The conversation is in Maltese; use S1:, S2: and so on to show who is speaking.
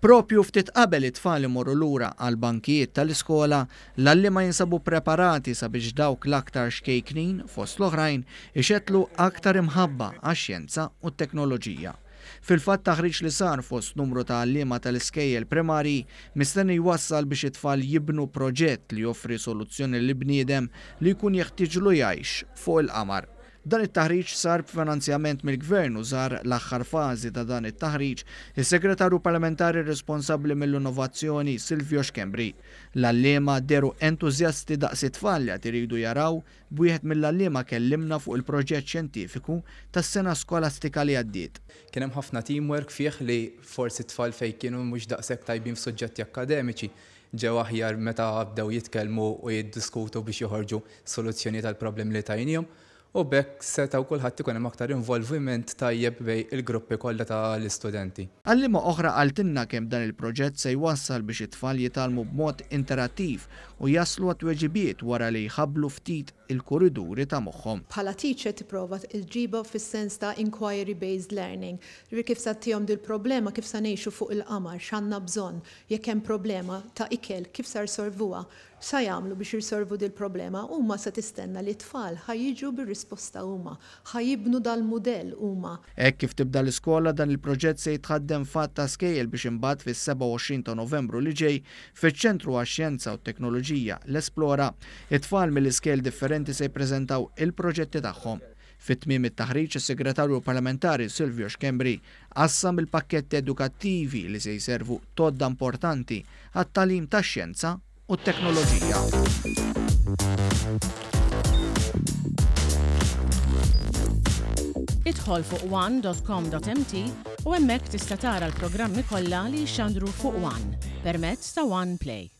S1: Propju ftit qabel it-tfal imorru lura għall-bankijiet tal-iskola, l-għalliema jinsabu preparati sabiex dawk l-aktar xkejknin, fost l-oħrajn, ixettlu aktar imħabba għax-xjenza u t-teknoloġija. Fil-fatt taħriġ li sar fost numru ta' għalliema tal-iskejjel primarji mistenni jwassal biex it-tfal jibnu proġett li joffri soluzzjoni lill-bniedem li jkun jeħtieġlu jgħix fuq il-qamar. Dan it-taħriġ sar b'finanzjament mill-Gvern u żar l-aħħar fażi ta' dan it-taħriġ is-Segretarju Parlamentari responsabbli mill-Innovazzjoni Silvio Schembri. L-għalliema dehru entużjasti daqs it-tfal li għad iridu jaraw b'wieħed mill-għalliema kellimna fuq il-proġett xjentifiku tas-sena skolastika li għaddiet.
S2: Kien hemm ħafna teamwork fih li forsi t-tfal fejn kienu mhux daqshekk tajbin f'suġġetti akkademiċi ġew aħjar meta bdew jitkellmu u jiddiskutu biex joħorġu soluzzjonijiet għall-problemi li tajniehom u b'hekk setgħu kulħadd ikun hemm aktar involviment tajjeb bejn il-gruppi kollha ta' l-istudenti.
S1: Għalliema oħra qaltilna kemm dan il-proġett se jwassal biex it-tfal jitgħallmu b'mod interattiv u jaslu għat-tweġibiet wara li jħabblu ftit il-kuriduri ta' moħħhom.
S3: Bħala teacher tipprova ġġibha fis-sens ta' inquiry based learning. Jiġifieri kif sa ttihom dil-problema, kif sa ngħixu fuq il-qamar, x'għandna bżonn, jekk hemm problema ta' ikel, kif sa rsolvuha, x'sa jagħmlu biex jirsolvu dil-problema, huma se tistenna li t-tfal ħa jiġu bir-risposta huma, ħa jibnu dal-mudell huma.
S1: Hekk kif tibda l-iskola dan il-proġett se jitħaddem f'għadd ta' skejjel biex imbagħad fis-27 ta' Novembru li ġej fiċ-Ċentru għax-Xjenza u t-Teknoloġija, l-Esplora, it-tfal mill-iskejjel differenti se jippreżentaw il-proġetti tagħhom. Fi tmiem it-taħriġ is-Segretarju Parlamentari Silvio Schembri qassam il-pakketti edukattivi li se jservu t'għodda importanti għat-tagħlim tax-xjenza u t-teknoloġija.
S4: Idħol fuq one.com.mt u hemmhekk tista' tara l-programmi kollha li jixxandru fuq One permezz ta' One Play.